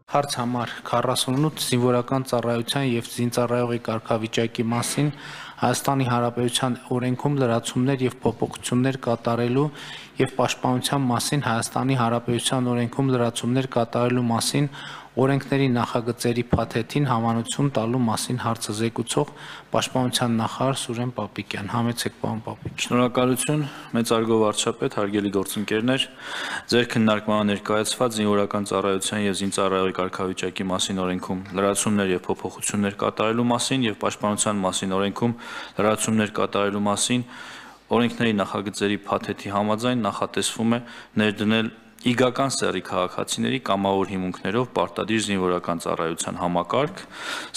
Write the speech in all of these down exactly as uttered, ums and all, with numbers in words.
Հարց համար քառասունութ զինվորական ծառայության և զինծառայողի կարգավիճակի մասին Հայաստանի Հանրապետության օրենքում լրացումներ և փոփոխություններ կատարելու և պաշտպանության մասին Հայաստանի Հանրապետության օրենքում լրացումներ կատարելու մասին օրենքների նախագծերի փաթեթին համանուն տալու մասին հարցը զեկուցող Պաշտպանության նախարար Սուրեն Պապիկյան։ Համեցեք, պարոն Պապիկյան։ Շնորհակալություն, մեծարգո վարչապետ, հարգելի գործընկերներ, ձեր քննարկմանը ներկայացված զինվորական ծառայության և զինծառայողի կարգավիճակի մասին օրենքում լրացումներ և փոփոխություններ կատարելու մասին և պաշտպանության մասին օրենքում լրացումներ կատարելու մասին օրենքների նախագծերի փաթեթի համաձայն նախատեսվում է ներդնել իգական սեռի քաղաքացիների կամավոր հիմունքներով պարտադիր զինվորական ծառայության համակարգ,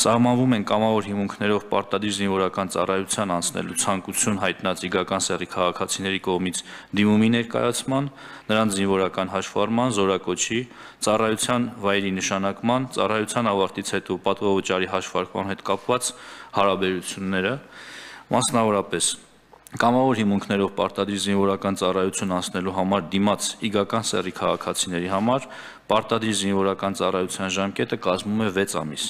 սահմանվում են կամավոր հիմունքներով պարտադիր զինվորական ծառայության անցնելու ցանկություն հայտնած իգական սեռի քաղաքացիների կողմից դիմումի ներկայացման, նրանց զինվորական հաշվառման, զորակոչի, ծառայության վայրի նշանակման, ծառայության ավարտից հետո պատվովճարի հաշվարկման հետ կապված հարաբերությունները, մասնավորապես կամավոր հիմունքներով պարտադիր զինվորական ծառայություն անցնելու համար դիմաց իգական սեռի քաղաքացիների համար պարտադիր զինվորական ծառայության ժամկետը կազմում է վեց ամիս։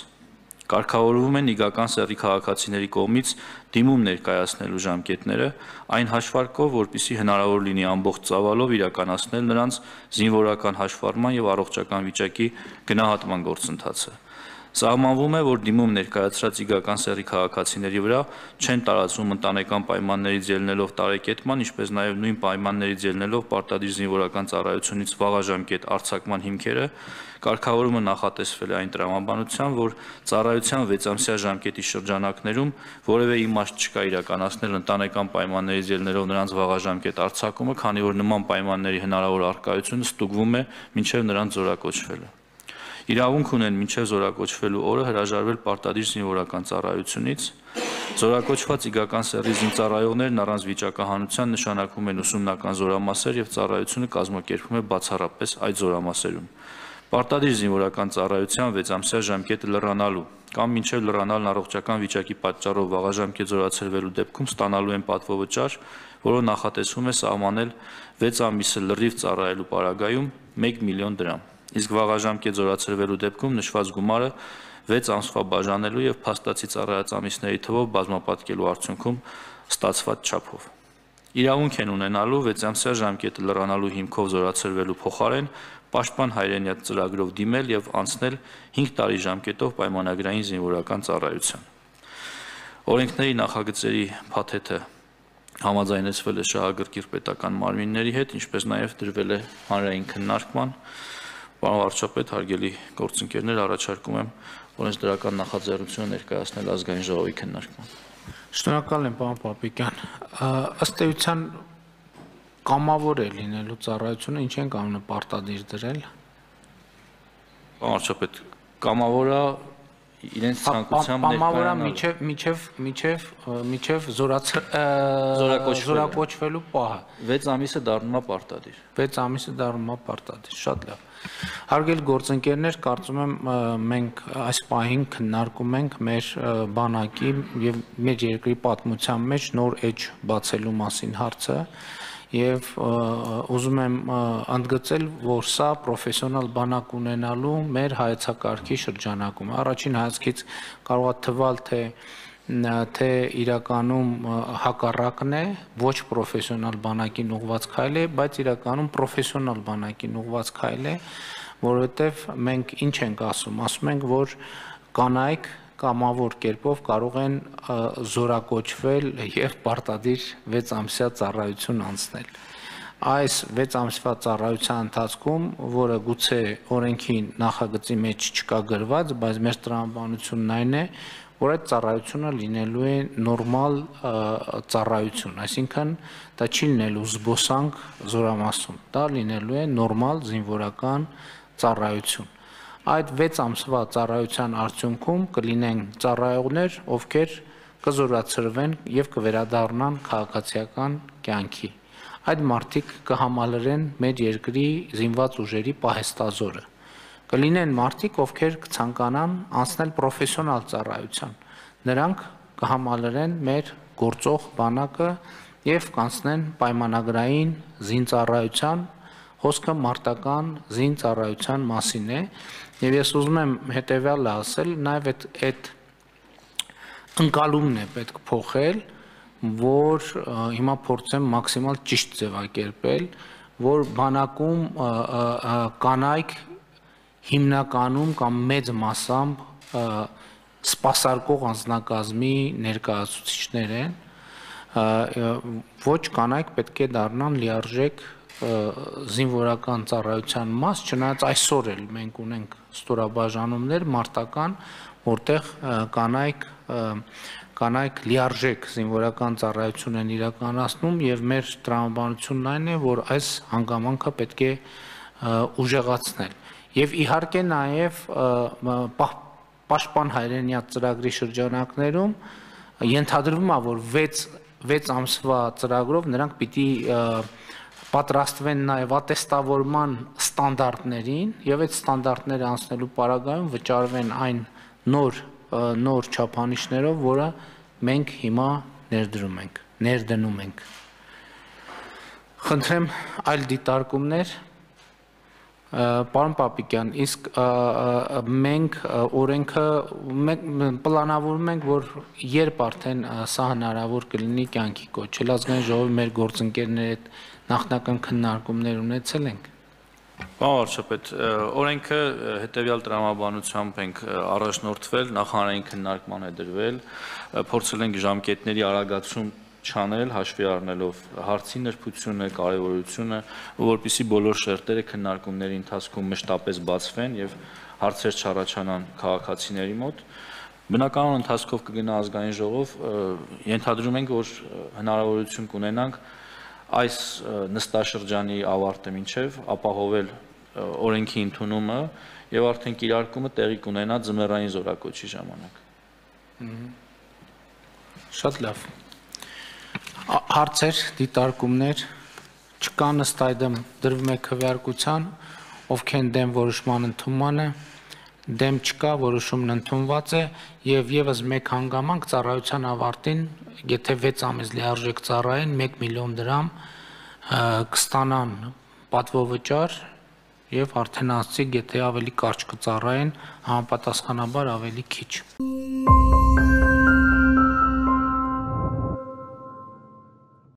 Կարգավորվում են իգական սեռի քաղաքացիների կողմից դիմում ներկայացնելու ժամկետները այն հաշվարկով, որպեսզի հնարավոր լինի ամբողջ ծավալով իրականացնել նրանց զինվորական հաշվառման և առողջական վիճակի գնահատման գործընթացը։ Սահմանվում է, որ դիմում ներկայացրած իգական սեռի քաղաքացիների վրա չեն տարածվում ընտանեկան պայմաններից ելնելով տարեկետման, ինչպես նաև նույն պայմաններից ելնելով պարտադիր զինվորական ծառայությունից վաղաժամկետ արձակման հիմքերը, կարգավորումը նախատեսվել է այն տրամաբանությամբ, որ ծառայության վեցամսյա ժամկետի շրջանակներում որևէ իմաստ չկա իրականացնել ընտանեկան պայմաններից ելնելով նրանց վաղաժամկետ արձակումը, քանի որ նման պայմանների հնարավոր առկայությունը ստուգվում է մինչև նրանց զորակոչվելը։ Իրավունք ունեն մինչև զորակոչվելու օրը հրաժարվել պարտադիր զինվորական ծառայությունից, զորակոչված իգական սեռի զինծառայողներն առանց վիճակահանության նշանակվում են ուսումնական զորամասեր և ծառայությունը կազմակերպվում է բացառապես այդ զորամասերում։ Պարտադիր զինվորական ծառայության վեցամսյա ժամկետը լռանալու կամ մինչև լռանալն առողջական վիճակի պատճառով վաղաժամկետ զորացրվելու դեպքում ստանալու են պատվովճար, որը նախատեսվում է սահմանել վեց ամիսը լրիվ ծառայելու պարագայում մեկ միլիոն դրամ, իսկ վաղաժամկետ զորացրվելու դեպքում նշված գումարը վեց ամսվա բաժանելու և փաստացի ծառայած ամիսների թվով բազմապատկելու արդյունքում ստացված չափով։ Իրավունք են ունենալու վեցամսյա ժամկետը լռանալու հիմքով զորացրվելու փոխարեն պաշտպան հայրենյաց ծրագրով դիմել և անցնել հինգ տարի ժամկետով պայմանագրային զինվորական ծառայության։ Օրենքների նախագծերի փաթեթը համաձայնեցվել է շահագրգիռ պետական մարմինների հետ, ինչպես նաև դրվել է հանրային քննարկման։ Պարոն վարչապետ, հարգելի գործընկերներ, առաջարկում եմ օրենսդրական նախաձեռնությունը ներկայացնել ազգային ժողովի քննարկման։ Շնորհակալ եմ, պարոն Պապիկյան։ Ըստ էության կամավոր է լինելու ծառայությունը, ինչ են կանոնը պարտադիր դրել։ Պարոն վարչապետ, կամավորը իրենց ցանկությամբ ներկայանալու միջև միջև միջև զորակոչվելու պահը վեց ամիսը դառնում է պարտադիր։ վեց ամիսը դառնում է պարտադիր։ Շատ լավ։ Հարգելի գործընկերներ, կարծում եմ մենք այս պահին քննարկում ենք մեր բանակի եւ մեր երկրի պատմության մեջ նոր էջ բացելու մասին հարցը եւ ուզում եմ ընդգծել, որ սա պրոֆեսիոնալ բանակ ունենալու մեր հայեցակարգի շրջանակում առաջին հայացքից կարող է թվալ թե թե իրականում հակառակն է, ոչ պրոֆեսիոնալ բանակին ուղղված քայլ է, բայց իրականում պրոֆեսիոնալ բանակին ուղղված քայլ է, որովհետև մենք ինչ ենք ասում, ասում ենք, որ կանայք կամավոր կերպով կարող են զորակոչվել եւ պարտադիր վեց ամսյա ծառայություն անցնել։ Այս վեց ամսվա ծառայության ընթացքում, որը գուցե օրենքի նախագծի մեջ չկա գրված, բայց մեր տրամաբանությունն այն է, որ այդ ծառայությունը լինելու է նորմալ ծառայություն, այսինքն դա չի լինելու զբոսանք զորամասում, դա լինելու է նորմալ զինվորական ծառայություն։ Այդ վեց ամսվա ծառայության արդյունքում կլինեն ծառայողներ, ովքեր կզորացրվեն եւ կվերադառնան քաղաքացիական կյանքի։ Այդ մարդիկ կհամալրեն մեր երկրի զինված ուժերի պահեստազորը։ Կլինեն մարդիկ, ովքեր կցանկանան անցնել պրոֆեսիոնալ ծառայության։ Նրանք կհամալրեն մեր գործող բանակը եւ կանցնեն պայմանագրային զինծառայության, խոսքը մարտական զին ծառայության մասին է, եւ ես ուզում եմ հետեւյալը ասել, նաեւ այդ այդ ընկալումն է պետք փոխել, որ հիմա փորձեմ մաքսիմալ ճիշտ ձևակերպել, որ բանակում կանայք հիմնականում կամ մեծ մասամբ սպասարկող անձնակազմի ներկայացուցիչներ են, ոչ կանայք պետք է դառնան լիարժեք զինվորական ծառայության մաս, չնայած այսօր էլ մենք ունենք ստորաբաժանումներ մարտական, որտեղ կանայք կանայք լիարժեք զինվորական ծառայություն են իրականացնում եւ մեր տրամաբանությունն այն է, որ այս հանգամանքը պետք է ուժեղացնել։ Եվ իհարկե նաեւ Պաշտպան հայրենիաց ծրագրի շրջանակներում ենթադրվում է, որ վեց ամսվա ծրագրով նրանք պիտի պատրաստվեն նաև ատեստավորման ստանդարտներին եւ այդ ստանդարտները անցնելու պարագայում վճարվեն այն նոր նոր չափանիշներով, որը մենք հիմա ներդրում ենք, ներդնում ենք։ Խնդրեմ այլ դիտարկումներ։ Պարոն Պապիկյան, իսկ մենք օրենքը պլանավորում ենք, որ երբ արդեն սա հնարավոր կլինի կյանքի կոչել, ազգային ժողովի մեր գործընկերների հետ նախնական քննարկումներ ունեցել ենք։ Պարոն վարչապետ, օրենքը հետևյալ տրամաբանությամբ ենք առաջնորդվել, նախարարային քննարկման է դրվել, փորձել ենք ժամկետների արագացում չանել, հաշվի առնելով հարցի նրբությունը, կարևորությունը, որպեսզի բոլոր շերտերը քննարկումների ընթացքում մշտապես բացվեն եւ հարցեր չառաջանան քաղաքացիների մոտ։ Բնականon ընթացքով կգնա ազգային ժողով, ենթադրում ենք, որ հնարավորություն կունենանք այս նստաշրջանի ավարտը մինչև ապահովել օրենքի ընդունումը եւ արդեն կիրարկումը տեղի կունենա ձմեռային զորակոչի ժամանակ։ Շատ լավ։ Հարցեր, դիտարկումներ չկան, ըստ այդմ դրվում է քվեարկության, ովքեր են դեմ որոշման ընդունմանը, դեմ չկա, որոշումն ընդունված է եւ եւս մեկ հանգամանք ծառայության ավարտին, եթե վեց ամիս լիարժեք ծառայեն, մեկ միլիոն դրամ կստանան պատվովճար եւ արդեն ասցիկ, եթե ավելի կարճ կծառայեն, համապատասխանաբար ավելի քիչ։